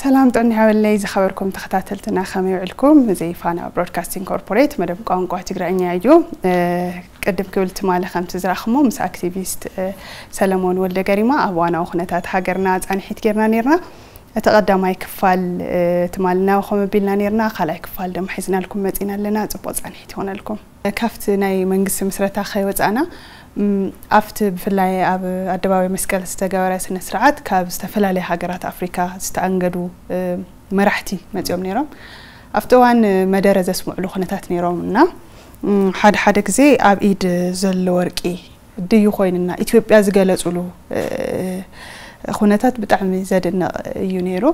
ሰላም ጥዕና ይሃበለይ ዝኸበርኩም ተኸታተልትና፣ ከመይ ውዕልኩም? እዚ ፋና ብሮድካስቲንግ ኮርፖሬት መደብ ቋንቋ ትግርኛ እዩ። እ፣ ቅድም ክብል ትማሊ ከምቲ ዝረኣኽሞ ምስ ኣክቲቪስት፣ እ፣ ሰለሞን ወልደ ገሪማ ኣብ እዋናዊ ኩነታት ሃገርና ጻንሒት ጌርና ኔርና። እቲ ቀዳማይ ክፋል፣ እ፣ ትማሊ እናበኸም ኣቢልና ኔርና። ካልኣይ ክፋል ድማ ሒዝናልኩም መጺና ኣለና። ጽቡቕ ጻንሒት ይኾነልኩም። ካብቲ ናይ መንግስቲ ምስረታ ከይወጻእና፣ ም፣ ኣብቲ ብፍላይ ኣብ ኣደባባይ መስቀል ዝተገበረ ስነ ስርዓት ካብ ዝተፈላለያ ሃገራት ኣፍሪካ ዝተኣንገዱ፣ እ፣ መራሕቲ መጺኦም ነይሮም። ኣብቲ እዋን መደረ ዘስምዕሉ ኩነታት ነይሮም እና፣ ም፣ ሓደ ሓደ ግዜ ኣብ ኢድ ዘሎ ወርቂ ድዩ ኮይንና ኢትዮጵያ ዝገለጹሉ፣ እ፣ ኩነታት ብጣዕሚ ዘድንቕ እዩ ነይሩ።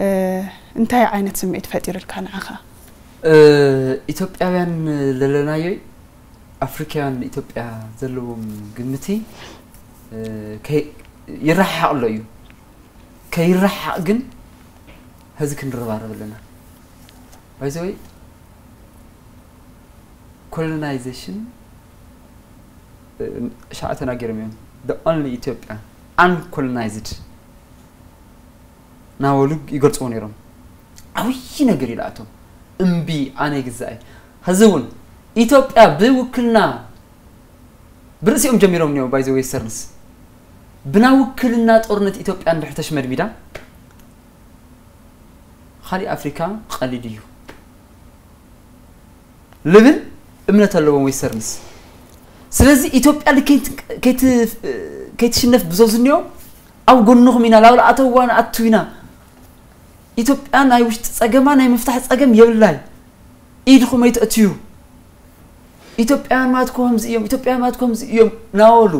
እ፣ እንታይ ዓይነት ስምዒት ፈጢሩልካ ንዓኻ? እ፣ ኢትዮጵያውያን ለለናዮ ኣፍሪካውያን ንኢትዮጵያ ዘለዎም ግምቲ፣ እ፣ ከይ-፣ ይረሓሓቕ ኣሎ እዩ። ከይረሓቕ ግን ሀዚ ክንረባረብ ኣለና። ባይዘወይ ኮሎናይዜሽን፣ እ፣ ሻዕ ተናገሮም እዮም። The only ኢትዮጵያ uncolonized ናበሉ ይገልፅዎ ነይሮም። ዓብዪ ነገር እዩ ለኣቶም። እምቢ ኣነ ይግዛእ። ሀዚ እውን ኢትዮጵያ ብውክልና ብርእሲኦም ጀሚሮም እኒኦ ባይዘ ዌስተርንስ ብና ውክልና ጦርነት ኢትዮጵያ እንድሕር ተሽመድሚዳ ካሊእ ኣፍሪካ ቀሊል እዩ ልብል እምነት ኣለዎም ዌስተርንስ። ስለዚ ኢትዮጵያ ልክ ከይት-፣ ከይት-፣ ከይትሽነፍ ብዞ ዝኒኦ ኣብ ጎንኹም ኢና፣ ላውላ ኣተዋ ንኣቱ ኢና። ኢትዮጵያ ናይ ውሽጢ ጸገማ ናይ ምፍታሕ ጸገም የብላይ። ኢድኹም ኣይትእትዩ። ኢትዮጵያውያን ማለት ከምዚ እዮም፣ ኢትዮጵያውያን ማለት ከምዚ እዮም ናበሉ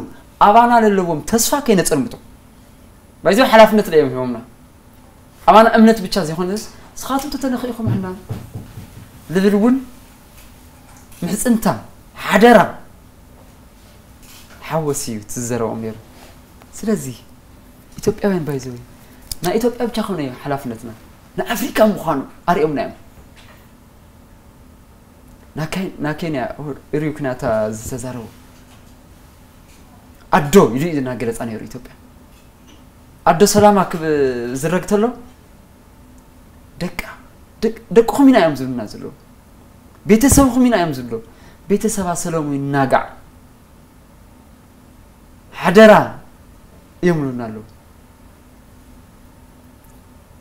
ኣባና ለለዎም ተስፋ ከይነጸልምቶ። ባይዘ ሓላፍነት ለዮም ሂቦምና። ኣባና እምነት ብቻ ዘይኮነስ፣ ንስኻትኩም ተተነኺእኹም ሕና ልብል እውን ምሕጽንታ፣ ሓደራ፣ ሓወስ እዩ እቲ ዝዘረቦም ነይሩ። ስለዚ ኢትዮጵያውያን ባይዘወይ፣ ናይ ኢትዮጵያ ብቻ ኮነ እዩ ሓላፍነትና፣ ንኣፍሪካ ምዃኑ ኣርእዮምና እዮም። ናካይ-፣ ናኬንያ ሪዩ ኩናታ ዝተዛረቡ ኣዶ ኢሉ እዩ እናገለጻ ነይሩ ኢትዮጵያ። ኣዶ ሰላማ ክብ-፣ ዝረግ ተሎ ደቃ፣ ደቅ-፣ ደቅኹም ኢና እዮም ዝብሉና ዘለዉ። ቤተሰብኹም ኢና እዮም ዝብሉ። ቤተሰባ ሰለሙ ይናጋዕ። ሓደራ እዮም ይብሉና ኣለዉ።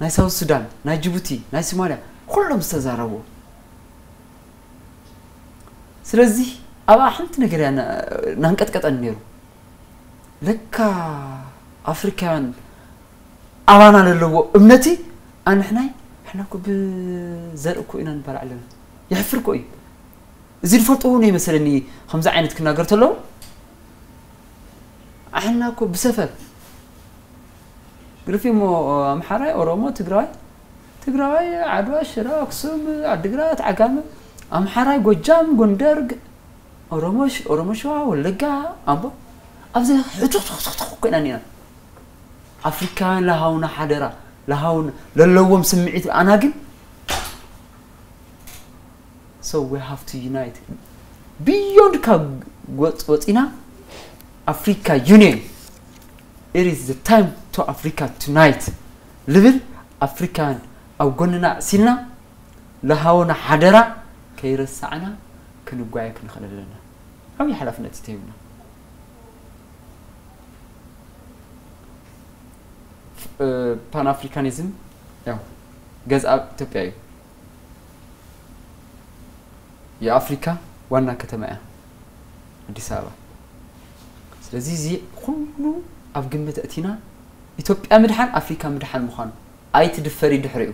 ናይ ሳውት ሱዳን፣ ናይ ጅቡቲ፣ ናይ ሶማልያ፣ ኩሎም ዝተዛረቡ። ስለዚ ኣብኣ ሓንቲ ነገር እያ ና-፣ ናንቀጥቀጠን ነይሩ። ለካ ኣፍሪካውያን ኣባና ለለዎ እምነቲ ኣንሕናይ፣ ሕና እኮ ብዘርኢ እኮ ኢና ንባላዕ ኣለና። የሕፍር እኮ እዩ። እዚ ዝፈልጥዎ እውን ይመስለኒ ከምዚ ዓይነት ክናገር ተለዉ። ኣሕና እኮ ብሰፈር ግርፊ እሞ ኣምሓራይ፣ ኦሮሞ፣ ትግራዋይ፣ ትግራዋይ፣ ዓድዋ፣ ሽረ፣ ኣክሱም፣ ዓድግራት፣ ዓጋመ፣ ኣምሓራይ፣ ጎጃም፣ ጎንደር፣ ግ-፣ ኦሮሞ ሽ-፣ ኦሮሞ ሸዋ፣ ወለጋ፣ ኣምቦ፣ ኣብዚ ሕቱኽቱኽቱኽ ኮይና እኒና። ኣፍሪካውያን ለሃውና ሓደራ፣ ለሃውና ለለዎም ስምዒት ኣና ግን So we have to unite. Beyond ካብ ወፅ-፣ ወፂና ኣፍሪካ ዩኒየን፣ it is the time to Africa tonight ልብል ኣፍሪካውያን ኣብ ጎንና ኣዕሲልና ለሃወና ሓደራ ከይረሳዕና ክንጓየ ክንኽእል ኣለና። ዓብዪ ሓላፍነት እዩ ተሂብና። እ፣ ፓን ኣፍሪካኒዝም ያው ገዝኣ ኢትዮጵያ እዩ። የኣፍሪካ ዋና ከተማ እያ ኣዲስ ኣበባ። ስለዚ እዚ ኩሉ ኣብ ግምት እቲና ኢትዮጵያ ምድሓን ኣፍሪካ ምድሓን ምዃኑ ኣይትድፈሪ ድሕሪኡ።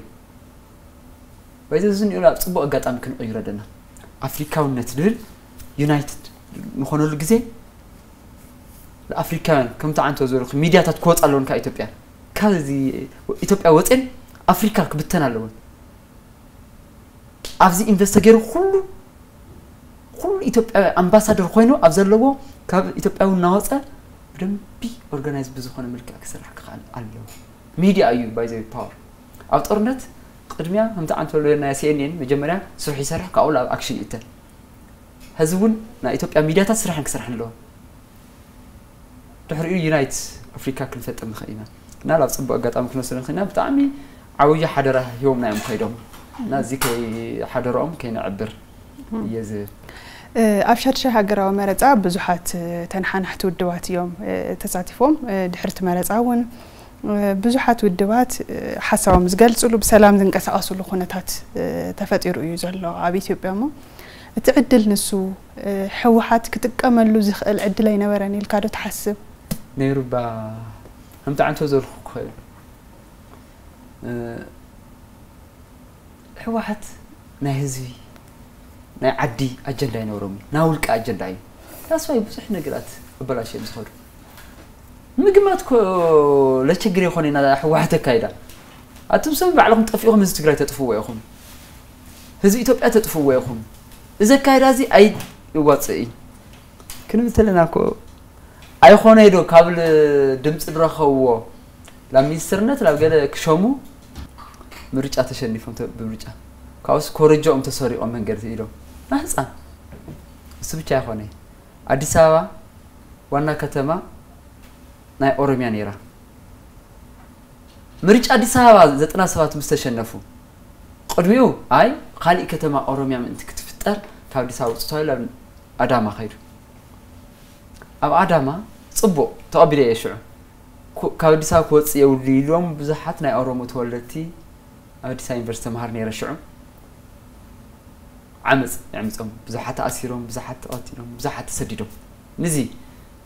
በዚ እዚ ንሪኦ ኣብ ጽቡቕ ኣጋጣሚ ክንቕይሮ ኣለና። ኣፍሪካውነት ዝብል ዩናይትድ ንኾነሉ ግዜ ንኣፍሪካውያን ከምቲ ዓንቶ ዝበልኩ ሚድያታት ክወፃ ኣለወን ካብ ኢትዮጵያ። ካብዚ ኢትዮጵያ ወፅን ኣፍሪካ ክብተን ኣለወን። ኣብዚ ኢንቨስት ተገይሩ ኩሉ፣ ኩሉ ኢትዮጵያዊ ኣምባሳደር ኮይኑ ኣብ ዘለዎ ካብ ኢትዮጵያዊ እናወፀ ብደንቢ ኦርጋናይዝ ብዝኾነ መልክዕ ክስራሕ ክኽኣል ኣለዎ። ሚድያ እዩ ባይዘዊ ፓወር። ኣብ ጦርነት ቅድሚያ ከምቲ ዓንቶ ዝበለና ሲኤንኤን መጀመርያ ስርሑ ይሰርሕ፣ ካብኡ ኣብ ኣክሽን ይእተ። ሕዚ እውን ናይ ኢትዮጵያ ሚድያታት ስራሕን ክስራሕን ኣለዎ። ድሕሪኡ ዩናይት ኣፍሪካ ክንፈጥር ንኽእል ኢና። እና ናብ ፅቡቅ ኣጋጣሚ ክንወስዶ ንኽእል ኢና። ብጣዕሚ ዓብዪ ሓደራ ሂቦምና እዮም ከይዶም እና እዚ ከይ ሓደራኦም ከይነዕብር እየ ዝብል። ኣብ ሻድሻይ ሃገራዊ መረፃ ብዙሓት ተነሓናሕቲ ውድባት እዮም ተሳቲፎም። ድሕርቲ መረፃ እውን ብዙሓት ውድባት ሓሳቦም ዝገልፅሉ ብሰላም ዝንቀሳቐስሉ ኩነታት ተፈጢሩ እዩ ዘሎ ኣብ ኢትዮጵያ። እሞ እቲ ዕድል ንሱ ህወሓት ክጥቀመሉ ዝኽእል ዕድል ኣይነበረን ኢልካ ዶ ትሓስብ? ነይሩ ባ ከምቲ ዓንቶ ዘልኩ ክኽእል ህወሓት ናይ ህዝቢ ናይ ዓዲ ኣጀንዳ ኣይነበሮም እዩ። ናይ ውልቂ ኣጀንዳ እዩ። ዳስዋይ ብዙሕ ነገራት ኣበላሽዮም ዝኸዱ ምግማት ኮ ለቸግር የኾነ ኢና ህወሓት ኣካይዳ ኣቱም ሰብ ባዕልኹም ጠፊኹም ህዝቢ ትግራይ ተጥፍዎ ኢኹም። ህዝቢ ኢትዮጵያ ተጥፍዎ ኢኹም። እዚ ኣካይዳ እዚ ኣይዋፅእ እዩ ክንብል ተለና ኮ ኣይኾነ ዶ ካብ ድምፂ ዝረኸብዎ ናብ ሚኒስትርነት ናብ ገለ ክሸሙ ምርጫ ተሸኒፎም ብምርጫ ካብስ ኮረጃኦም ተሰሪቖም መንገዲ ኢሎም ናህፃን እሱ ብቻ ኣይኮነ ኣዲስ ኣበባ ዋና ከተማ ናይ ኦሮሚያ ነይራ ምርጫ ኣዲስ ኣበባ ዘጠና ሰባት ምስ ተሸነፉ ቅድሚኡ ኣይ ካሊእ ከተማ ኦሮሚያ ምእንቲ ክትፍጠር ካብ ኣዲስ ኣበባ ውፅእ ተባሂሉ ኣብ ኣዳማ ከይዱ ኣብ ኣዳማ ፅቡቕ ተቐቢለ እየ ሽዑ ካብ ኣዲስ ኣበባ ክወፅእ የብሉ ኢሎም ብዙሓት ናይ ኦሮሞ ተወለድቲ ኣብ ኣዲስ ኣበባ ዩኒቨርሲቲ ተምሃር ነይረ ሽዑ ዓመፅ የዕምፆም ብዙሓት ተኣሲሮም ብዙሓት ተቐቲሎም ብዙሓት ተሰዲዶም ንዚ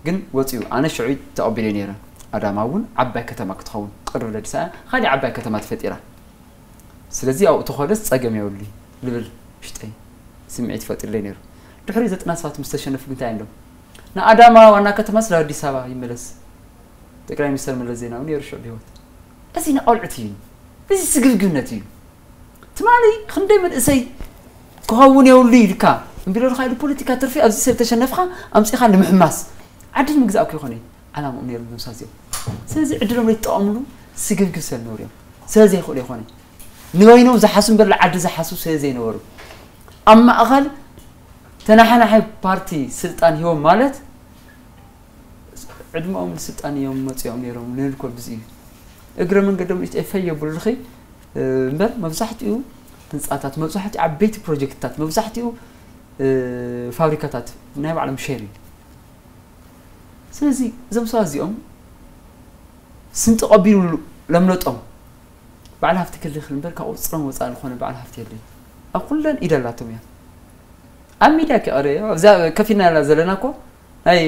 ግን ወፂኡ ኣነ ሽዑ ተቐቢለ ነይረ ኣዳማ እውን ዓባይ ከተማ ክትኸውን ቅርብ ለዲሳ ካሊእ ዓባይ ከተማ ተፈጢራ ስለዚ ኣብኡ ተኾደስ ፀገም የብሉ ልብል ውሽጠይ ስምዒት ፈጢርለይ ነይሩ ድሕሪ ዘጠና ሰባት ምስ ተሸነፉ ግንታይ እንዶ ንኣዳማ ዋና ከተማ ስለ ኣዲስ ኣበባ ይመለስ ጠቅላይ ሚኒስተር መለስ ዜናዊ ነይሩ ሽዑ ብህይወት እዚ ንቆልዑት እዩ እዚ ስግብግብነት እዩ ትማሊ ክንደይ መንእሰይ ክኸውን የብሉ ኢልካ እምቢለልካ ኢሉ ፖለቲካ ትርፊ ኣብዚ ሰብ ተሸነፍካ ኣምፂኻ ንምሕማስ ዓዲ ንምግዛእ እኮ ይኾነ ዓላምኦም ነይሩ ነብሳ እዚኦም ስለዚ ዕድሎም ዘይተጠቐምሉ ስግብግብ ሰብ ነሩ እዮም ስለ ዘይኽእሉ ይኾነ ንበይኖም ዝሓሱ እምበር ዓዲ ዝሓሱ ስለ ዘይነበሩ ኣብ ማእኸል ተናሓናሒ ፓርቲ ስልጣን ሂቦም ማለት ዕድመኦም ንስልጣን እዮም መፂኦም ነይሮም ንብል ኮ ብዚ እዩ እግረ መንገዶም ንእሽተይ ፈይ የብሉልኺ እምበር መብዛሕትኡ ህንፃታት መብዛሕትኡ ዓበይቲ ፕሮጀክትታት መብዛሕትኡ ፋብሪካታት ናይ ባዕሎም ሸር እዩ ስለዚ እዞም ሰባት እዚኦም ስም ተቐቢሉ ለምለጦም በዓል ሃፍቲ ክልል እምበር ካብ ቁፅፅሮም ወፃኢ ዝኾነ በዓል ሃፍቲ የለይ ኣብ ኩለን ኢድ ኣላቶም እያ ኣብ ሚድያ ከቐረ ኣብዛ ከፊልና ዘለና እኮ ናይ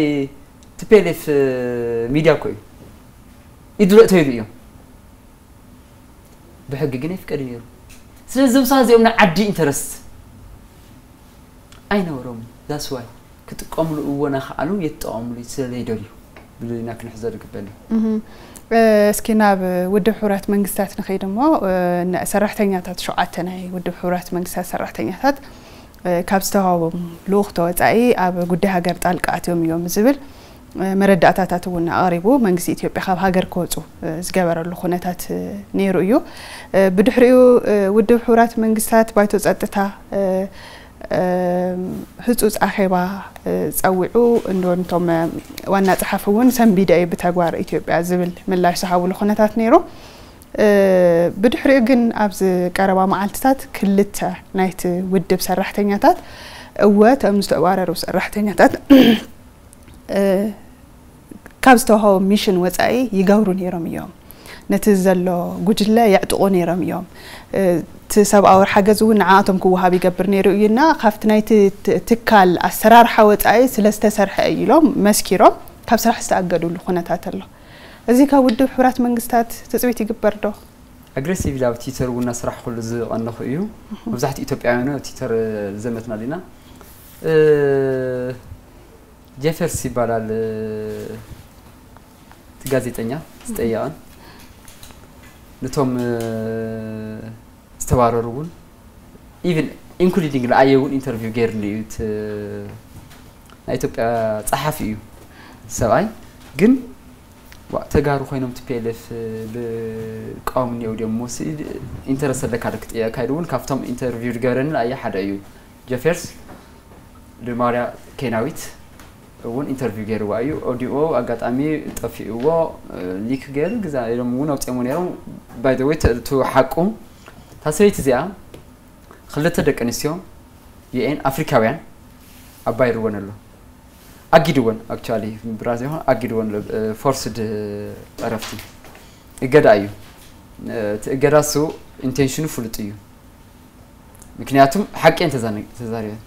ቲፒኤልኤፍ ሚድያ እኮ እዩ ኢዱ ለእተይሉ እዮም ብሕጊ ግን ኣይፍቀድ ነይሩ ስለዚ እዞም ሰባት እዚኦም ናይ ዓዲ ኢንተረስት ኣይነበሮም that's why ክጥቀምሉ እወ ናኸኣሉ የትጠቐምሉ ስለ ዘይደልዩ ብልና ክንሕዘ ዝግበኒ እስኪ ናብ ውድብ ሕቡራት መንግስታት ንኸይድ እሞ ሰራሕተኛታት ሸውዓተ ናይ ውድብ ሕቡራት መንግስታት ሰራሕተኛታት ካብ ዝተዋህቦም ልኡኽ ተወፃኢ ኣብ ጉዳይ ሃገር ጣልቃ ኣትዮም እዮም ዝብል መረዳእታታት እውን ኣቕሪቡ መንግስቲ ኢትዮጵያ ካብ ሃገር ክወፁ ዝገበረሉ ኩነታት ነይሩ እዩ ብድሕሪኡ ውድብ ሕቡራት መንግስታት ባይቶ ፀጥታ ህፁፅ ኣኼባ ፀዊዑ እንዶንቶም ዋና ፀሓፊ እውን ሰንቢደ እዩ ብተግባር ኢትዮጵያ ዝብል ምላሽ ዝሃብሉ ኩነታት ነይሩ ብድሕሪኡ ግን ኣብዚ ቀረባ መዓልትታት ክልተ ናይቲ ውድብ ሰራሕተኛታት እወ እቶም ዝተባረሩ ሰራሕተኛታት ካብ ዝተዋሃቦም ሚሽን ወፃኢ ይገብሩ ነይሮም እዮም ነቲ ዘሎ ጉጅለ የዕጥቑ ነይሮም እዮም እቲ ሰብኣዊ ሓገዝ እውን ንዓኣቶም ክወሃብ ይገብር ነይሩ እዩና ካብቲ ናይቲ ትካል ኣሰራርሓ ወፃኢ ስለ ዝተሰርሐ እዩ ኢሎም መስኪሮም ካብ ስራሕ ዝተኣገዱሉ ኩነታት ኣሎ እዚ ካብ ውድብ ሕቡራት መንግስታት ትፅቢት ይግበር ዶ? ኣግሬሲቭ ኢላ ኣብ ትዊተር እውን እናሰራሕኩሉ ዝቐነኹ እዩ። መብዛሕትኡ ኢትዮጵያውያን ኣብ ትዊተር ዝዘመትና ዲና። እ፣ ጄፈርስ ይባላል፣ እ፣ እቲ ጋዜጠኛ ዝጠየቐን ነቶም፣ እ፣ ዝተባረሩ እውን ኢቭን ኢንክሉዲንግ ንኣየ እውን ኢንተርቪው ገይርኒ እዩ። እቲ ናይ ኢትዮጵያ ጸሓፊ እዩ ሰብኣይ። ግን ዋእ፣ ተጋሩ ኮይኖም ቲ ፒ ኤል ኤፍ ዝቃወሙ እኒአው ድዮም? ሞሲ ኢንተረስት ኣለካ ዶ ክጥየቀካ ኢሉ እውን ካብቶም ኢንተርቪው ዝገበረኒ ንኣየ ሓደ እዩ። ጀፌርስ ድማርያ ኬናዊት እውን ኢንተርቪው ገይርዋ እዩ። ኦዲዮ ኣጋጣሚ ጠፊእዎ፣ ሊክ ገይሩ ግዛ ኢሎም እውን ኣውፅኦሞ ነይሮም። ባይ ዘ ወይ፣ እቲ ሓቁ፣ እታ ሰበይቲ እዚኣ ክልተ ደቂ ኣንስትዮ ዩኤን ኣፍሪካውያን ኣባይርወን ኣሎ። ኣጊድወን፣ ኣክቹዋሊ ብራዚል ይኹን ኣጊድወን ኣሎ። ፎርስድ ዕረፍቲ እገዳ እዩ። እቲ እገዳ እሱ ኢንቴንሽኑ ፍሉጥ እዩ። ምክንያቱም ሓቂ እየን ተዛነ- ተዛሪበን።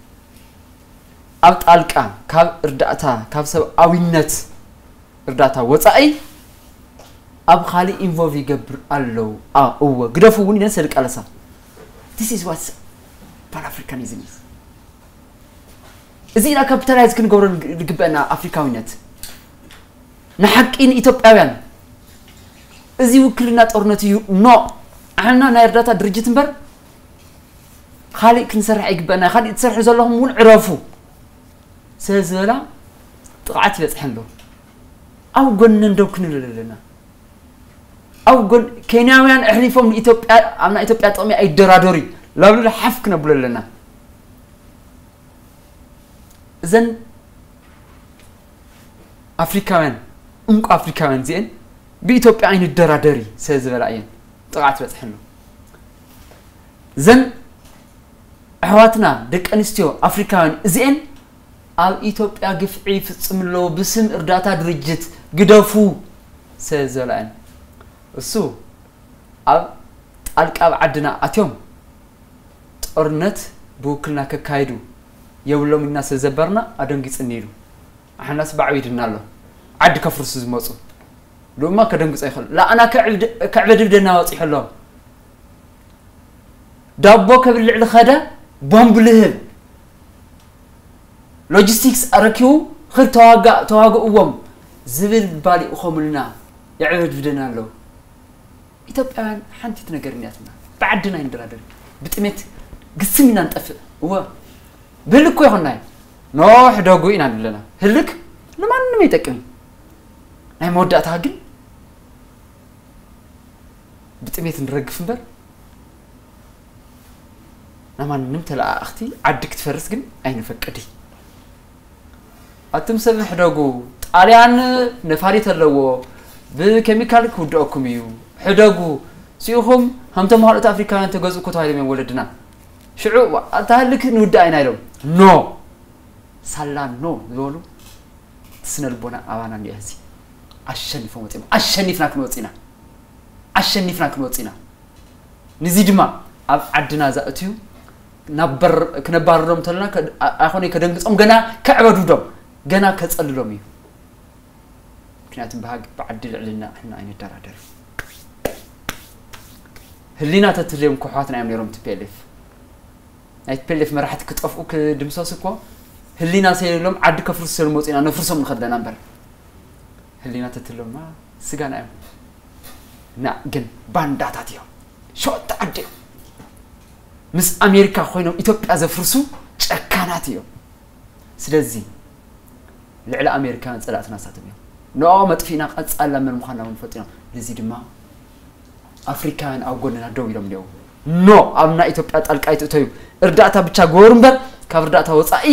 ኣብ ጣልቃ ካብ እርዳእታ፣ ካብ ሰብኣዊነት እርዳታ ወፃኢ ኣብ ካሊእ ኢንቮልቭ ይገብር ኣለዉ። እወ ግደፉ እውን ኢለን ሰልቃለሳ። This is what Pan-Africanism is። እዚ ኢና ካፒታላይዝ ክንገብሮ ዝግበአና ኣፍሪካዊነት። ንሓቂ ንኢትዮጵያውያን እዚ ውክልና ጦርነት እዩ። ኖ፣ ኣሕና ናይ እርዳታ ድርጅት እምበር ካሊእ ክንሰርሕ ኣይግበአና። ካሊእ ትሰርሑ ዘለኹም እውን ዕረፉ ስለ ዝበላ ጥቕዓት ይበፅሐን ኣሎ። ኣብ ጎነን ደው ክንብል ኣለና። ኣብ ጎን ኬንያውያን ኣሕሊፎም ንኢትዮጵያ፣ ኣብ ናይ ኢትዮጵያ ጥቕሚ ኣይደራደሩ እዩ። ላብሉሉ ሓፍ ክነብሎ ኣለና። እዘን ኣፍሪካውያን፣ እንቁ ኣፍሪካውያን እዚአን ብኢትዮጵያ ኣይንደራደሪ ስለ ዝበላ እየን ጥቕዓት በፅሐን ኣሎ። እዘን ኣሕዋትና ደቂ ኣንስትዮ ኣፍሪካውያን እዚኤን ኣብ ኢትዮጵያ ግፍዒ ይፍፅም ኣለዉ ብስም እርዳታ ድርጅት ግደፉ ስለ ዝበላየን እሱ ኣብ ጣልቃ ኣብ ዓድና ኣትዮም ጦርነት ብውክልና ከካይዱ የብሎም ኢልና ስለ ዘበርና ኣደንጊፅኒ ኢሉ ኣሕናስ ባዕቢድና ኣሎ ዓዲ ከፍርሱ ዝመፁ ድማ ከደንግፆ ይኽእል ለኣና ከዕበድብደና ወፂሑ ኣሎ ዳቦ ከብልዕ ዝኸደ ቦምብ ልህብ ሎጂስቲክስ ኣረኪቡ ኽድ ተዋጋእ ተዋግእዎም ዝብል ባሊኡ ኸምልና የዕበድብደና ኣለዉ ኢትዮጵያውያን ሓንቲ ነገር እኒያትና ብዓድና ይንደራደር ብጥሜት ግስም ኢና ንጠፍእ እወ ብህልክ እኮ ይኾናይ ኖ ሕደጉ ኢና ንብለና ህልክ ንማንም ኣይጠቅም ናይ መወዳእታ ግን ብጥሜት ንረግፍ እምበር ናማንም ተለኣኣኽቲ ዓዲ ክትፈርስ ግን ኣይንፈቅድ ኣቱም ሰብ ሕደጉ ጣልያን ነፋሪት ኣለዎ ብኬሚካል ክውድአኩም እዩ ሕደጉ ሲኢኹም ከምቶም ካልኦት ኣፍሪካውያን ተገዝኡ እኮ ተባሂሎም እዮም ወለድና ሽዑ ኣታ ህልክ ንውድኣ ኢና ኢሎም ኖ ሳላ ኖ ዝበሉ ስነ ልቦና ኣባና እንዲያ ህዚ ኣሸኒፎም ወፂኦም ኣሸኒፍና ክንወፅ ኢና ኣሸኒፍና ክንወፅ ኢና ንዚ ድማ ኣብ ዓድና ዘእትዩ ናብ በር ክነባርሮም እንተለና ኣይኮነ ከደንግፆም ገና ከዕበዱዶም ገና ከፀልሎም እዩ ምክንያቱም ብሃግ ብዓዲ ልዕልና ሕና ኣይንደራደር ህሊና ተትልዮም ክሕዋትና እዮም ነይሮም ትፒኤልኤፍ ናይ ቲፒኤልኤፍ መራሕቲ ክጠፍኡ ክድምሰሱ እኮ ህሊና ሰይሎም ዓዲ ከፍርሱ ሰሉ መፁ ኢና ነፍርሶም ንኸድለና እምበር ህሊና ተትለማ ስጋና እዮም ና ግን ባንዳታት እዮም ሸወጥቲ ዓዲ እዮም ምስ ኣሜሪካ ኮይኖም ኢትዮጵያ ዘፍርሱ ጨካናት እዮም ስለዚ ልዕሊ ኣሜሪካውያን ፀላእትና ንሳቶም እዮም ንኦ መጥፊእና ቀፃላ መን ምዃንና እውን ፈጢኖም ነዚ ድማ ኣፍሪካውያን ኣብ ጎንና ደው ኢሎም እኒአው ኖ ኣብ ናይ ኢትዮጵያ ጣልቃ ኣይትእተዩ እርዳእታ ብቻ ግበሩ እምበር ካብ እርዳእታ ወፃኢ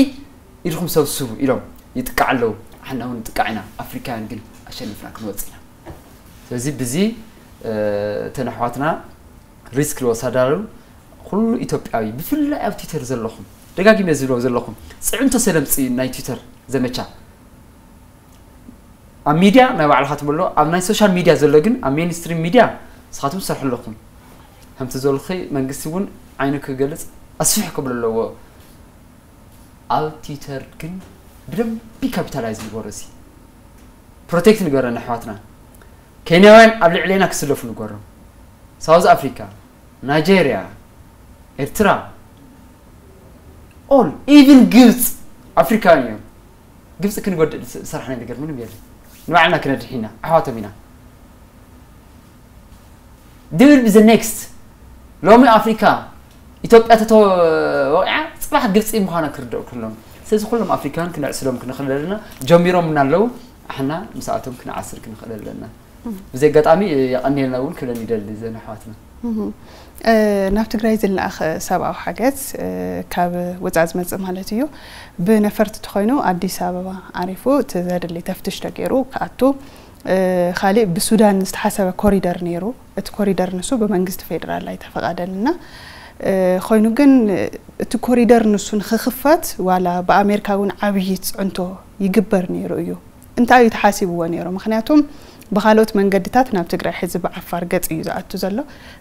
ኢድኹም ሰብስቡ ኢሎም ይጥቃዕ ኣለዉ ኣሕና እውን ንጥቃዕ ኢና ኣፍሪካውያን ግን ኣሸኒፍና ክንወፅ ኢና ስለዚ ብዚ እተን ኣሕዋትና ሪስክ ዝወሰዳሉ ኩሉ ኢትዮጵያዊ ብፍላይ ኣብ ትዊተር ዘለኹም ደጋጊመ ዝብሎ ዘለኹም ፅዕንቶ ሰለምፂ ናይ ትዊተር ዘመቻ ኣብ ሚድያ ናይ ባዕልኻ ትብሎ ኣብ ናይ ሶሻል ሚድያ ዘሎ ግን ኣብ ሜንስትሪም ሚድያ ንስኻትኩም ትሰርሑ ኣለኹም ከምቲ ዘልኺ መንግስቲ እውን ዓይኑ ክገልፅ ኣስፊሕ ክብል ኣለዎ ኣብ ትዊተር ግን ብደንቢ ካፒታላይዝ ንገሮ ሲ ፕሮቴክት ንገረን ኣሕዋትና ኬንያውያን ኣብ ልዕሌና ክስለፉ ንገሮም ሳውዝ ኣፍሪካ ናይጀርያ ኤርትራ ኦል ኢቭን ግብፅ ኣፍሪካውያን እዮም ግብፂ ክንጎድእ ዝሰራሕናይ ነገር ምንም የለን ንባዕልና ክነድሕ ኢና ኣሕዋቶም ኢና ድብል ብዘ ኔክስት ሎሚ ኣፍሪካ ኢትዮጵያ ተተወቂዓ ፅባሕ ግብፂ ምዃና ክርደኡ ክሎም ስለዚ ኩሎም ኣፍሪካውያን ክነዕስሎም ክንኽእል ኣለና ጀሚሮም እናለዉ ኣሕና ምስኣቶም ክንዓስር ክንኽእል ኣለና ብዚ ኣጋጣሚ የቐንየልና እውን ክብለን ይደሊ ዘን ኣሕዋትና እህ፣ እ፣ ናብ ትግራይ ዝለኣኽ ሰብኣዊ ሓገዝ፣ እ፣ ካብ ወፃኢ ዝመፅእ ማለት እዩ። ብነፈርቲ ተኾይኑ ኣዲስ ኣበባ ዓሪፉ እቲ ዘድሊ ተፍትሽ ተገይሩ ክኣቱ፣ እ፣ ካሊእ ብሱዳን ዝተሓሰበ ኮሪደር ነይሩ። እቲ ኮሪደር ንሱ ብመንግስቲ ፌዴራል ኣይተፈቓደን እና፣ እ፣ ኮይኑ ግን እቲ ኮሪደር ንሱ ንክኽፈት ዋላ ብኣሜሪካ እውን ዓብዪ ፅዕንቶ ይግበር ነይሩ እዩ። እንታይ እዩ ተሓሲብዎ ነይሩ? ምኽንያቱም ብኻልኦት መንገድታት ናብ ትግራይ ሕዚ ብዓፋር ገፅ እዩ ዝኣቱ ዘሎ።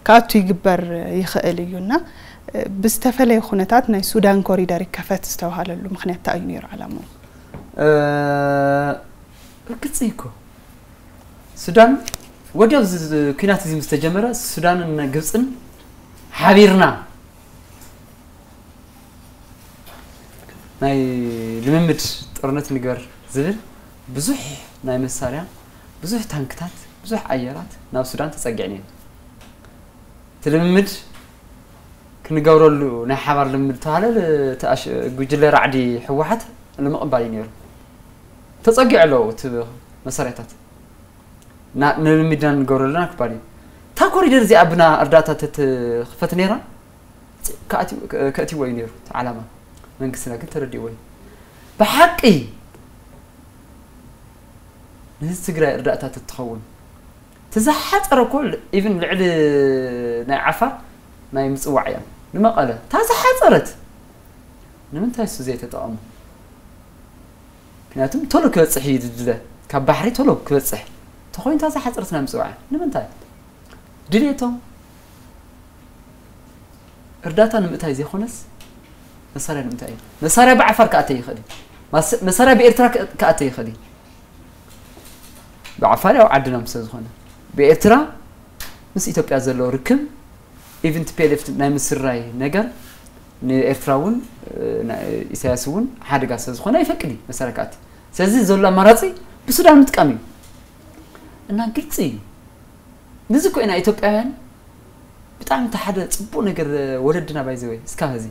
ክኣቱ ይግበር ይኽእል እዩ እና ብዝተፈለየ ኩነታት ናይ ሱዳን ኮሪደር ይከፈት ዝተባሃለሉ ምኽንያት እንታይ እዩ ነይሩ ዓላምኡ? ርግጽ እኮ ሱዳን ወዲያው እዚ ኩናት እዚ ምስ ተጀመረ ሱዳንን ግብፅን ሓቢርና ናይ ልምምድ ጦርነት ንግበር ዝብል ብዙሕ ናይ መሳርያ ብዙሕ ታንክታት ብዙሕ ኣየራት ናብ ሱዳን ተፀጊዐን እየን። እቲ ልምምድ ክንገብረሉ ናይ ሓባር ልምምድ ተባሃለ እቲ ኣሽ- ጉጅለ ራዕዲ ህወሓት ንምቕባል እዩ ነይሩ። ተፀጊዑ ኣለዎ እቲ መሳርያታት ና- ንልምምድና ንገብረሉ ኢና ክባል እዩ። እታ ኮሪደር እዚኣ ብና እርዳታ ተትኽፈት ነይራ ከእትዎ እዩ ነይሩ እቲ ዓላማ መንግስትና ግን ተረዲእዎ እዩ። ብሓቂ ንህዝቢ ትግራይ እርዳእታ ተትኸውን ተዝሓፀረ እኮ ኢቭን ልዕሊ ናይ ዓፋር ናይ ምፅዋዕ እያ ንመቐለ እታ ዝሓፀረት ንምንታይ እሱ ዘይተጠቐሙ? ምክንያቱም ቶሎ ክበፅሕ እዩ ድድለ ካብ ባሕሪ ቶሎ ክበፅሕ ተኮይኑ እታ ዝሓፀረት ናይ ምፅዋዕ እያ ንምንታይ ድሌቶም እርዳታ ንምእታይ ዘይኮነስ መሳርያ ንምእታይ እዩ። መሳርያ ብዓፋር ክኣተይ ይኽእል እዩ። ማስ- መሳርያ ብኤርትራ ክእ- ክኣተይ ይኽእል እዩ። ብዓፋር ያው ዓድና ምስ ዝኾነ ብኤርትራ ምስ ኢትዮጵያ ዘሎ ርክብ ኢቭን ቲ ፒ ኤል ኤፍ ናይ ምስራይ ነገር ንኤርትራ እውን እ፣ ና- ኢሳያስ እውን ሓደጋ ስለ ዝኾነ ኣይፈቅድ እዩ መሳርያ ክኣቲ። ስለዚ ዘሎ ኣማራፂ ብሱዳን ምጥቃም እዩ እና ግልፂ እዩ። ንዚ እኮ ኢና ኢትዮጵያውያን ብጣዕሚ እቲ ሓደ ፅቡቅ ነገር ወለድና ባይዘወይ እስካብ ሕዚ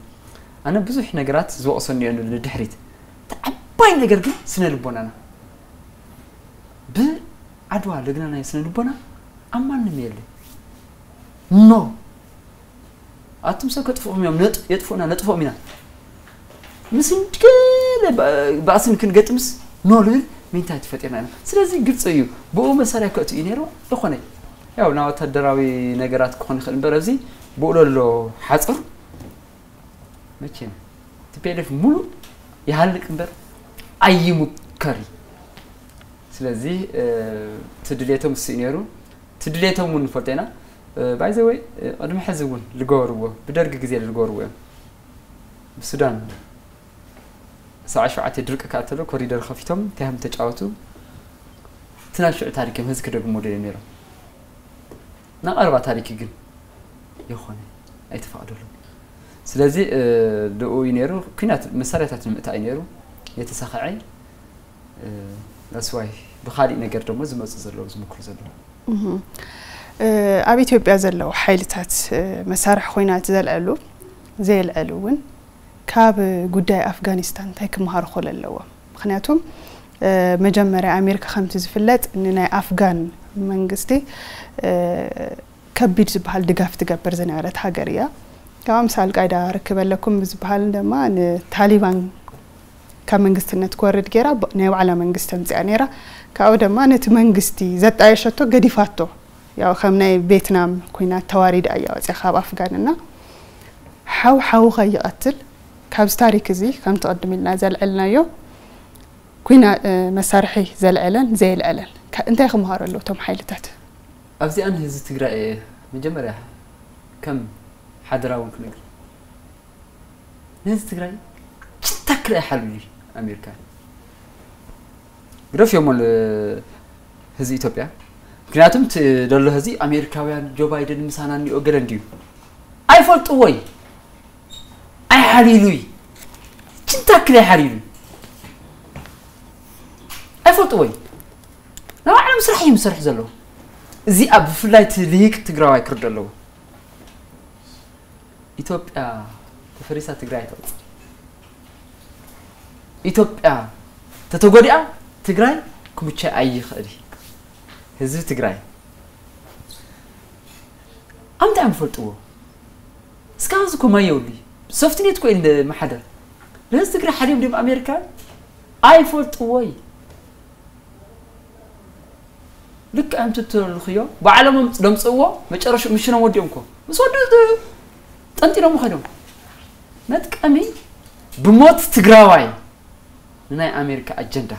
ኣነ ብዙሕ ነገራት ዝወቅሰኒ እየ ንድሕሪት እቲ ዓባይ ነገር ግን ስነ ልቦናና ብዓድዋ ለግናናዮ ስነ ልቦና ኣብ ማንም የለ ኖ ኣቱም ሰብ ከጥፍኦም እዮም ነጥ- የጥፍኡና ነጥፍኦም ኢና ምስ ገለ ባ- ባእሲ ንክንገጥምስ ኖ ልብል ሜንታሊቲ ፈጢርና ኢና ስለዚ ግልፂ እዩ ብኡ መሳርያ ከእቱ እዩ ነይሩ ዝኾነ ያው ናይ ወታደራዊ ነገራት ክኾን ይኽእል እምበር ኣብዚ ብኡ ለሎ ሓፁር መቼም ቲ ፒ ኤል ኤፍ ሙሉእ ይሃልቅ እምበር ኣይሙከር እዩ ስለዚ እ፣ እቲ ድሌቶም እሱ እዩ ነይሩ እቲ ድሌቶም እውን ንፈልጦ ኢና ባይ ዘ ወይ ቅድሚ ሕዚ እውን ዝገበርዎ ብደርጊ ግዜ ዝገበርዎ እዮም ብሱዳን ሰብዓ ሸውዓተ ድርቂ ክኣተሎ ኮሪደር ከፊቶም እንታይ ከም ተጫወቱ እቲ ናይ ሽዑ ታሪክ እዮም ህዚ ክደግሞ ደልዮም ነይሮም ናይ ቀረባ ታሪክ ግን የኾነ ኣይተፈቕደሎም ስለዚ እ፣ ድኡ እዩ ነይሩ ኩናት መሳርያታት ንምእታይ እዩ ነይሩ የተሳኸዐ እ፣ that's why ብኻሊእ ነገር ደሞ ዝመፁ ዘለዉ ዝምክሩ ዘለዉ እህ፣ እ፣ ኣብ ኢትዮጵያ ዘለዉ ሓይልታት እ፣ መሳርሒ ኮይና እቲ ዘልዐሉ ዘየልዐሉ እውን ካብ ጉዳይ ኣፍጋኒስታን እንታይ ክመሃሩ ክኽእሉ ኣለዎም? ምክንያቱም እ፣ መጀመርያ ኣሜሪካ ከምቲ ዝፍለጥ ንናይ ኣፍጋን መንግስቲ እ፣ ከቢድ ዝበሃል ድጋፍ ትገብር ዝነበረት ሃገር እያ። ካብ ምስ ኣልቃይዳ ርክብ ኣለኩም ብዝበሃል ድማ ንታሊባን ካብ መንግስትነት ክወርድ ገይራ ብ- ናይ ባዕላ መንግስቲ ኣምፅኣ ነይራ። ካብኡ ድማ ነቲ መንግስቲ ዘጣየሸቶ ገዲፋቶ። ያው ከም ናይ ቬትናም ኩናት ተዋሪዳ እያ ወፅያ ካብ ኣፍጋን እና ሓው ሓው ከይቐትል ካብዚ ታሪክ እዚ ከምቲ ቅድም ኢልና ዘልዐልናዮ ኩና መሳርሒ ዘልዐለን ዘየልዐለን እንታይ ክምሃሩ ኣለዉ እቶም ሓይልታት? ኣብዚኣ ንህዝቢ ትግራይ እየ መጀመርያ ከም ሓደራ እውን ክነግር ንህዝቢ ትግራይ ጭታክል ኣይሓልሉ ኣሜሪካ ግደፍዮሞ ህዝቢ ኢትዮጵያ ምክንያቱም እቲ ደሎ ህዚ ኣሜሪካውያን ጆ ባይደን ምሳና እኒኦ ገለ እንድዩ ኣይፈልጥዎይ ኣይሓሊሉይ ጭንታክል ኣይሓሊሉይ ኣይፈልጥዎይ ንባዕሎም ስራሕ እዮም ዝሰርሑ ዘለዉ እዚኣ ብፍላይ እቲ ልሂቅ ትግራዋይ ክርዶ ኣለዎ ኢትዮጵያ ተፈሪሳ ትግራይ ኣይትቕፅል ኢትዮጵያ ተተጎዲኣ ትግራይ ክምቸ ኣይኽእል ህዝቢ ትግራይ ኣምታይ እዮም ዝፈልጥዎ? እስካብ እዚ እኮ ማይ የብሉ። ሶፍትኔት እኮ እንደ ማሕደር። ለዚ ትግራይ ሓዲኦም ድም ኣሜሪካ ኣይፈልጥዎ እዩ። ልክዕ ከምቲ ትልኽዮ ባዕሎም ደምፅእዎ። መጨረሹ ምሽኖም ወዲኦም እኮ ምስ ወዲ ጠንጢኖም ኸዶም። መጥቀሚ ብሞት ትግራዋይ ንናይ ኣሜሪካ ኣጀንዳ፣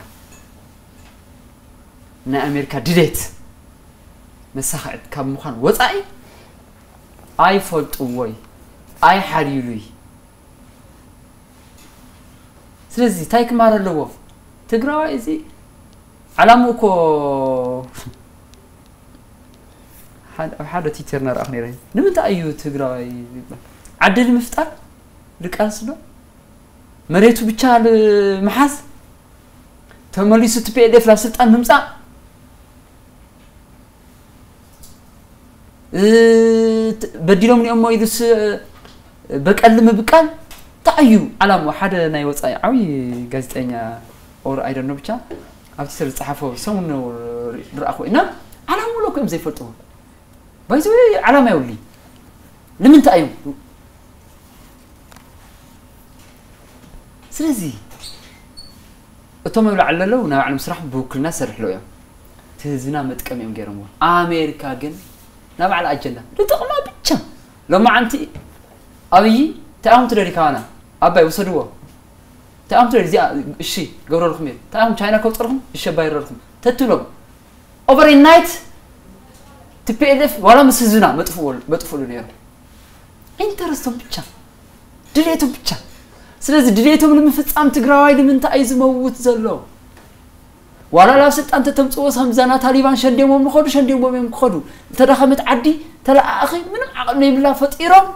ናይ ኣሜሪካ ድሌት መሳኽዕት ካብ ምዃን ወፃኢ ኣይፈልጥዎይ፣ ኣይሓልዩሉይ። ስለዚ እንታይ ክማር ኣለዎ ትግራዋይ? እዚ ዓላምኡ እኮ ሓደ- ኣብ ሓደ ትዊተር እናረኣኹ ነይረ። ንምንታይ እዩ ትግራዋይ ይባል? ዓዲ ንምፍጣር ድቃስ ዶ? መሬቱ ብቻ ምሓዝ? ተመሊሱ ቲ ፒ ኤል ኤፍ ናብ ስልጣን ምምፃእ? በዲሎም ኒኦሞ ኢሉስ በቀል ምብቃል? እንታይ እዩ ዓላምኡ? ሓደ ናይ ወፃኢ ዓብዪ ጋዜጠኛ ኦር ኣይደኖ ብቻ ኣብ ትዊተር ዝፀሓፎ ሰሙን ዝረኣኹ እና ዓላምኡ ሎ እዮም ዘይፈልጥዎ። ባይዘ ዓላማ የብሉይ። ንምንታይ እዮም? ስለዚ እቶም ኣብ ላዕሊ ዘለዉ ናይ ባዕሎም ስራሕ ብውክልና ዝሰርሕሎ እዮም። እቲ ህዝብና መጥቀሚ እዮም ገይሮምዎ። ኣሜሪካ ግን ናይ ባዕላ ኣጀንዳ ንጥቕማ ብቻ። ሎማዓንቲ ኣብይ እንታይ ኣኹም ትደልዩ ካባና? ኣባይ ውሰድዎ። እንታይ ኣኹም ትደልዩ? እዚኣ እሺ ገብረልኩም እየ። እንታይ ኣኹም ቻይና ከውፅርኩም? እሺ ኣባይረልኩም ተትብሎም ኦቨርናይት ቲ ፒ ኤል ኤፍ ዋላ ምስ ህዝብና መጥፍእሉ ነይሩ። ኢንተረስቶም ብቻ፣ ድሌቶም ብቻ። ስለዚ ድሌቶም ንምፍፃም ትግራዋይ ንምንታይ እዩ ዝመውት ዘሎ? ዋላ ናብ ስልጣን ተተምፅዎ ከምዛ ና ታሊባን ሸንዴሞም ንኸዱ፣ ሸንዴሞም እዮም ክኸዱ። ዝተዳኸመት ዓዲ ተለኣኣኺ ምንም ዓቕሚ ዘይብላ ፈጢሮም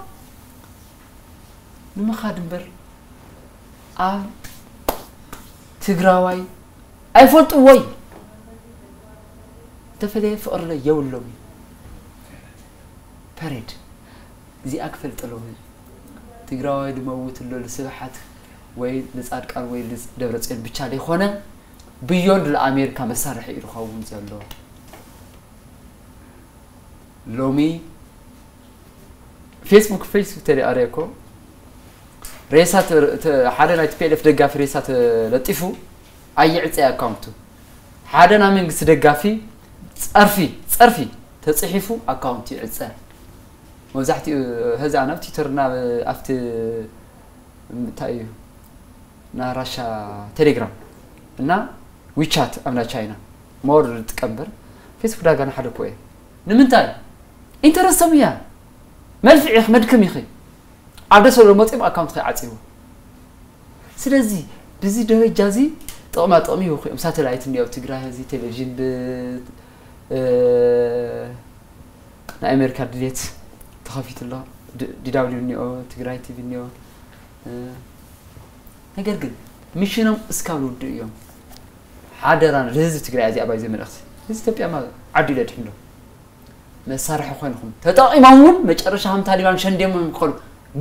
ንምኻድ እምበር ኣብ ትግራዋይ ኣይፈልጥዎይ። ዝተፈለየ ፍቕሪ ለ የብሎም እዩ። ፐሬድ እዚኣ ክፈልጠሎም። ትግራዋይ ድመውት ኣሎ ልስብሓት ወይ ልፃድቃን ወይ ልደብረፅዮን ብቻ ዘይኮነ ብዮንድ ለኣሜሪካ መሳርሒ እዩ ዝኸውን ዘሎ። ሎሚ ፌስቡክ ፌስቡክ ተሪኣረ እኮ ሬሳ ተ- ተ- ሓደ ናይ ቲ ፒ ኤል ኤፍ ደጋፊ ሬሳ ተለጢፉ ኣይዕፀ ኣካውንቱ። ሓደ ናይ መንግስቲ ደጋፊ ፀርፊ ፀርፊ ተፅሒፉ ኣካውንቱ ይዕፀ። መብዛሕትኡ ህዚ ናብ ትዊተር ናብ ኣብቲ እንታይ እዩ ና ራሻ ቴሌግራም እና ዊቻት ኣብ ናይ ቻይና ሞር ዝጥቀም በር ፌስቡክ ዳጋ ንሓደ እኮ እየ። ንምንታይ ኢንተረስቶም እያ። መልፍዕ ኢኺ መድክም ኢኺ። ኣብ ደስ ወሎ መፂኦም ኣካውንት ከይዓፅይዎ። ስለዚ ብዚ ደረጃ እዚ ጥቕማ ጥቕሚ ይውክኦም። ሳተላይት እኒኦ ኣብ ትግራይ እዚ ቴሌቪዥን ብ ናይ ኣሜሪካ ድሌት ተኸፊቱ ኣሎ። ዲ ዳብሊው እኒኦ፣ ትግራይ ቲቪ እኒኦ። ነገር ግን ሚሽኖም እስካብ ዝውድእ እዮም። ሓደራ ንህዝቢ ትግራይ እዚኣ ባይ ዘመልእኽቲ ህዝቢ ኢትዮጵያ ማ ዓዱ ኢለ ድሕንዶ መሳርሒ ኮይንኹም ተጠቒሞም እውን መጨረሻ ከም ታሊባን ሸንዴሞም ክኸዱ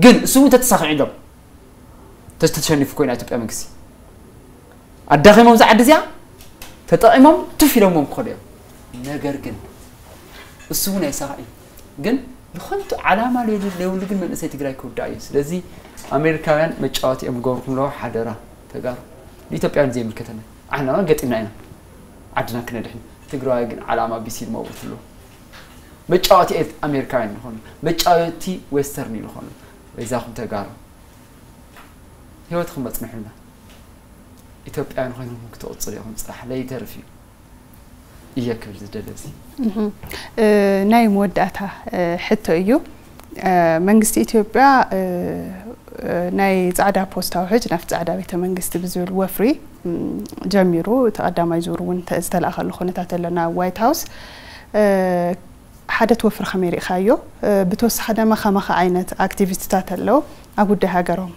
ግን እሱ እውን ተተሳኺዑ ኢሎም ተተሸኒፉ ኮይና ኢትዮጵያ መንግስቲ ኣዳኺሞም ዝዓዲ እዚኣ ተጠቒሞም ቱፍ ኢሎሞም ክኸዱ እዮም። ነገር ግን እሱ እውን ኣይሳኽዒ ግን ንኸንቱ ዓላማ ለይብሉ ግን መንእሰይ ትግራይ ክውዳእ እዩ። ስለዚ ኣሜሪካውያን መጫወቲ እዮም ዝገብርኩም ኣለዎ። ሓደራ ተጋሩ ንኢትዮጵያውያን ዘይምልከተና ኣሕና ገጢምና ኢና ዓድና ክነድሕን። ትግራዋይ ግን ዓላማ ቢሲል መውት ኣለዎ። መጫወቲ ኤት ኣሜሪካውያን ዝኾኑ መጫወቲ ዌስተርን ዝኾኑ በይዛኹም ተጋሩ ህይወትኩም መፅንሑልና። ኢትዮጵያውያን ኮይንኩም ክትቕፅሉ ኢኹም ፅራሕ ለይተርፍ እዩ እየ ክብል ዝደለ እዚ። ናይ መወዳእታ ሕቶ እዩ። መንግስቲ ኢትዮጵያ ናይ ፃዕዳ ፖስታ ውሕጅ ናብቲ ፃዕዳ ቤተ መንግስቲ ብዝብል ወፍሪ ጀሚሩ እቲ ቀዳማይ ዙር እውን ዝተላእከሉ ኩነታት ኣሎ ናብ ዋይት ሃውስ። ሓደ እቲ ወፍሪ ከመይ ርኢኻዮ? ብተወሳኺ ደማ ከማኻ ዓይነት ኣክቲቪስትታት ኣለዉ ኣብ ጉዳይ ሃገሮም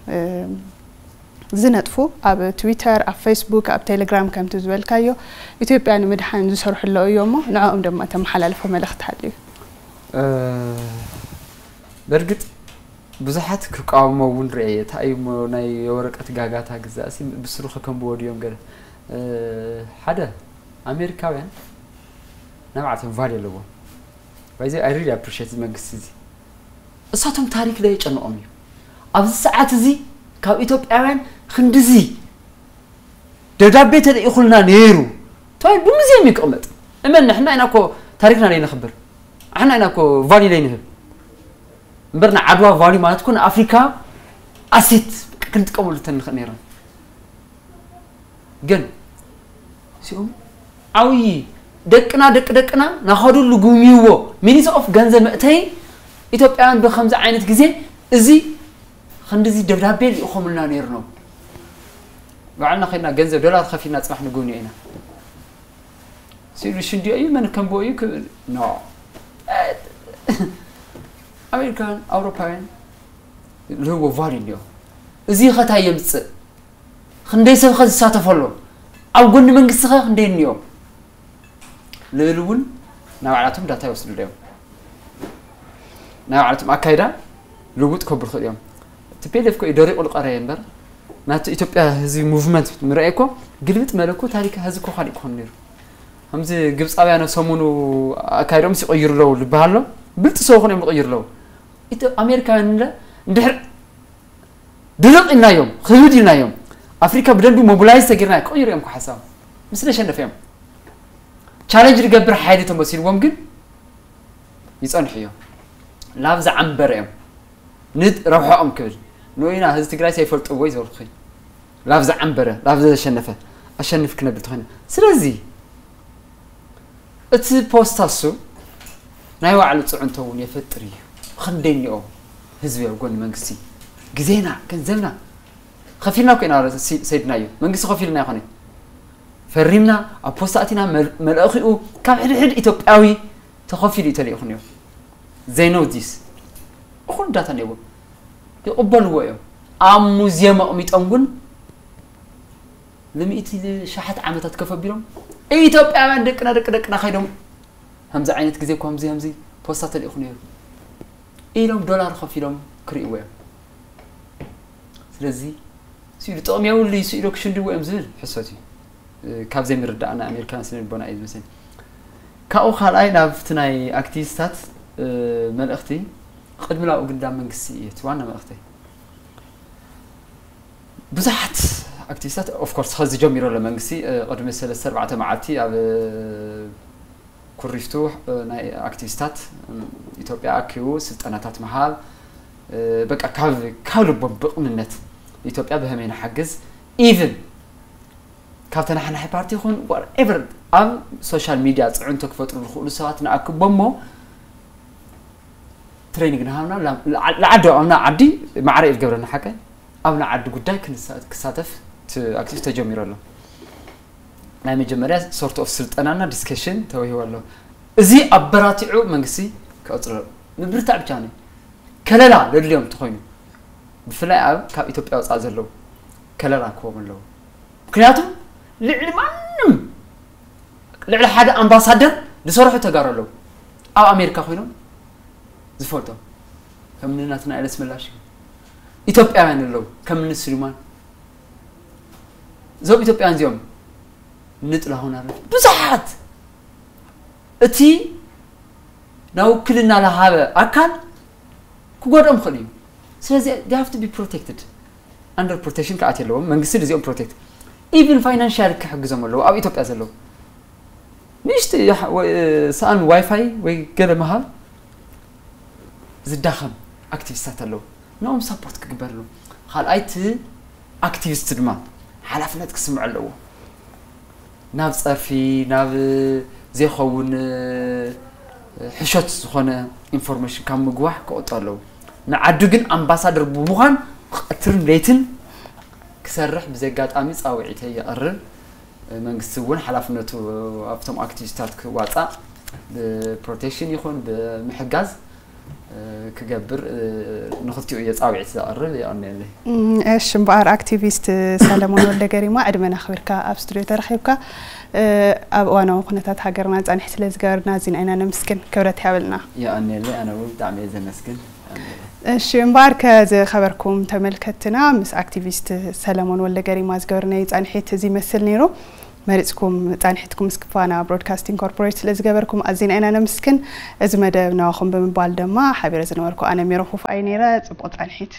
ዝነጥፉ ኣብ ትዊተር፣ ኣብ ፌስቡክ፣ ኣብ ቴሌግራም ከምቲ ዝበልካዮ ኢትዮጵያ ንምድሓን ዝሰርሑ ኣለዉ እዮም እሞ ንዕኦም ድማ ተመሓላልፎ መልእኽቲ ሃልዩ። በእርግጥ ብዙሓት ክቃወሞ እውን ርኤ። እንታይ እዩ እሞ ናይ የወረቀት ጋጋታ ግዛእሲ ብስሩ ከከንብዎ ድዮም ገለ ሓደ ኣሜሪካውያን ናይ ባዕልቶም ቫልዩ ኣለዎም። ባይዚ ኣይ ሪሊ ኣፕሪሼት እዚ መንግስቲ እዚ እሳቶም ታሪክ ዶ የጨንቖም እዩ? ኣብዚ ሰዓት እዚ ካብ ኢትዮጵያውያን ክንድዚ ደብዳቤ ተልኢኹልና ነይሩ ተባሂሉ ብሙዚየም ይቅመጥ። እመን፣ ንሕና ኢና እኮ ታሪክና ለይነኽብር፣ ንሕና ኢና እኮ ቫልዩ ለይንህብ። እምበር ንዓድዋ ቫልዩ ማለት እኮ ንኣፍሪካ ኣሴት ክንጥቀመሉ ተንኽእል ነይርና። ግን ሲኦም ዓብዪ ደቅና፣ ደቂ ደቅና ናኸዱ ልጉምይዎ ሚኒስ ኦፍ ገንዘብ መእተይ ኢትዮጵያውያን ብከምዚ ዓይነት ግዜ እዚ ክንድዚ ደብዳቤ ልኢኾምልና ነይርኖም። ባዕልና ከድና ገንዘብ ዶላር ከፊልና ፅባሕ ንጉብንዮ ኢና ሲሉ ሽንዲዮ እዩ መን ከምቦ እዩ ክብል ኖ። ኣሜሪካን ኣውሮፓውያን ልህቦ ቫልዩ እንዲዮ። እዚ ኸታይ የምፅእ? ክንደይ ሰብ ኸ ዝሳተፈሎ? ኣብ ጎኒ መንግስቲ ኸ ክንደይ እኒኦ? ልብል እውን ናይ ባዕላቶም ዳታ ይወስዱ እዮም። ናይ ባዕላቶም ኣካይዳ ልውጥ ከብሩ ይኽእሉ እዮም። ቲፒኤልኤፍ እኮ እዩ ደሪቑ ዝቐረየ እምበር ናቲ ኢትዮጵያ ህዝቢ ሙቭመንት ምርኣይ እኮ ግልብጥ መለ እኮ ታሪክ ህዝቢ እኮ ካሊእ ክኾን ነይሩ። ከምዚ ግብፃውያን ሰሙኑ ኣካይዶም ይቕይሩ ኣለዉ ዝበሃል ኣሎ። ብልጢ ሰው ኾነ እዮም ዝቕይሩ ኣለዉ። ኢትዮ-፣ ኣሜሪካውያን እንደ-፣ እንድሕር ድርቕ ኢልናዮም፣ ክብድ ኢልናዮም፣ ኣፍሪካ ብደንቢ ሞቢላይዝ ተጌርና ክቕይሩ እዮም እኮ ሓሳብ። ምስ ዘሸነፈ እዮም። ቻለንጅ ዝገብር ሓይሊ ተመሲልዎም ግን ይጸንሑ እዮም። ላብ ዝዓንበረ እዮም። ንድ ረብሐኦም ክብል። ንኡይና ህዝቢ ትግራይ ሰይፈልጥዎ ይዘርኩ። ላብ ዝዓንበረ፣ ላብ ዘሸነፈ፣ ኣሸንፍ ክነብል ተኾይና። ስለዚ እቲ ፖስታ እሱ ናይ ባዕሉ ጽዕንቶ እውን የፈጥር እዩ። ክንደይ እኒኦ ህዝቢ ኣብ ጎኒ መንግስቲ። ግዜና፣ ገንዘብና ከፊልና እኮ ኢና ሲ-፣ ሰይድናዮ። መንግስቲ ከፊልና ይኾነ። ፈሪምና፣ ኣብ ፖስታ ኣቲና መል-፣ መልእኺኡ ካብ ሕድሕድ ኢትዮጵያዊ ተኸፊሉ እዩ ተልኢኹ ነይሩ። They know this። እኹል ዳታ ነይዎም። ይቕበልዎ እዮም። ኣብ ሙዚየም ኣቕሚጦም ግን ንሚእቲ ሸሓት ዓመታት ከፈቢሮም ኢትዮጵያውያን ደቅና ደቂ ደቅና ከይዶም ከምዚ ዓይነት ግዜ እኮ ከምዚ ከምዚ ፖስታ ተልኢኹ ነይሩ ኢሎም ዶላር ከፊሎም ክርእይዎ እዮም። ስለዚ ስኢሉ ጥቕሚ የብሉ ስኢሉ ክሽንድዎ እዮም ዝብል ሕሰት እዩ። እ፣ ካብ ዘይምርዳእና ኣሜሪካን ስነ ልቦና እዩ ዝመስለኒ። ካብኡ ካልኣይ ናብቲ ናይ ኣክቲቪስታት፣ እ፣ መልእኽቲ ቅድሚ ናብኡ ግዳ መንግስቲ እዩ እቲ ዋና መልእኽተይ። ብዙሓት ኣክቲቪስታት ኦፍ ኮርስ ኸዚ ጀሚሩ ኣሎ መንግስቲ፣ እ፣ ቅድሚ ሰለስተ ኣርባዕተ መዓልቲ ኣብ፣ እ፣ ኩሪፍቱ፣ እ፣ ናይ ኣክቲቪስታት፣ እም፣ ኢትዮጵያ ኣኪቡ ስልጠናታት ምሃብ፣ እ፣ በቃ ካብ፣ ካብ ልቦም ብቕንነት ኢትዮጵያ ብኸመይ ንሓግዝ ኢቭን ካብ ተናሓናሒ ፓርቲ ይኹን whatever ኣብ ሶሻል ሚድያ ፅዕንቶ ክፈጥሩ ዝኽእሉ ሰባት ንኣክቦ እሞ ትሬኒንግ ንሃብና ላ-፣ ላ-፣ ንዓዲ፣ ኣብ ንዓዲ ማዕረ እዩ ዝገብረና ሓቀ ኣብ ንዓዲ ጉዳይ ክንሳ-፣ ክሳተፍ ት-፣ ኣክቲቪስት ተጀሚሩ ኣሎ። ናይ መጀመርያ ሶርት ኦፍ ስልጠናና ዲስከሽን ተወሂቡ ኣሎ። እዚ ኣበራቲዑ መንግስቲ ክቕፅሎ ምብርታዕ ብቻ ነው። ከለላ ዘድልዮም እንተኾይኑ ብፍላይ ኣብ ካብ ኢትዮጵያ ወፃእ ዘለዉ ከለላ ክህቦም ኣለዎ። ምክንያቱ ልዕሊ ማንም ልዕሊ ሓደ ኣምባሳደር ዝሰርሑ ተጋሩ ኣለዉ። ኣብ ኣሜሪካ ኮይኖም ዝፈልጦም ከም ናትና ኤለስ ምላሽ ኢትዮጵያውያን ኣለዉ ከም ንስሉማን እዞም ኢትዮጵያውያን እዚኦም ንጥላሁን ኣረፈ ብዙሓት እቲ ናብ ውክልና ዝሃበ ኣካል ክጎድኦም ክኽእል እዩ። ስለዚ they have to be protected under protection ክኣት የለዎም መንግስቲ እዚኦም ፕሮቴክት ኢቭን ፋይናንሻል ክሕግዞም ኣለዎ ኣብ ኢትዮጵያ ዘለዉ ንእሽቲ ሰኣን ዋይፋይ ወይ ገለ ምሃብ ዝዳኸም ኣክቲቪስታት ኣለዉ ንኦም ሳፖርት ክግበር ኣለዎ። ካልኣይቲ ኣክቲቪስት ድማ ሓላፍነት ክስምዖ ኣለዎ። ናብ ፀርፊ ናብ ዘይኸውን ሕሾት ዝኾነ ኢንፎርሜሽን ካብ ምግዋሕ ክቆጡ ኣለዉ። ንዓዱ ግን ኣምባሳደር ብምዃን ቀትርን ለይትን ክሰርሕ ብዚ ኣጋጣሚ ፃውዒተይ የቕርብ። መንግስቲ እውን ሓላፍነቱ ኣብቶም ኣክቲቪስታት ክዋፃእ ብፕሮቴክሽን ይኹን ብምሕጋዝ ክገብር ንኽልቲኡ እየ ፃውዒት ዘቕርብ። የቐንየለይ። እሺ እምበኣር ኣክቲቪስት ሰለሞን ወልደ ገሪማ ዕድመና ኣኽቢርካ ኣብ ስቱድዮ ተረኺብካ ኣብ እዋናዊ ኩነታት ሃገርና ፃንሒት ስለ ዝገበርና ኣዚና ኢና ነመስግን። ክብረት ይሃበልና። የቐንየለይ። ኣነ እውን ብጣዕሚ እየ ዘመስግን። እሺ እምበኣር ከዝኸበርኩም ተመልከትና ምስ ኣክቲቪስት ሰለሞን ወልደ ገሪማ ዝገበርናዮ ፃንሒት እዚ ይመስል ነይሩ። መሪፅኩም ፃንሒትኩም ምስ ክፋና ብሮድካስቲንግ ኮርፖሬት ስለ ዝገበርኩም ኣዚና ኢና ነምስግን። እዚ መደብ ናዋኹም ብምባል ድማ ሓቢረ ዝነበርኩ ኣነ ሜሮን ፉፍ ኣይ ነይረ። ፅቡቕ ፃንሒት።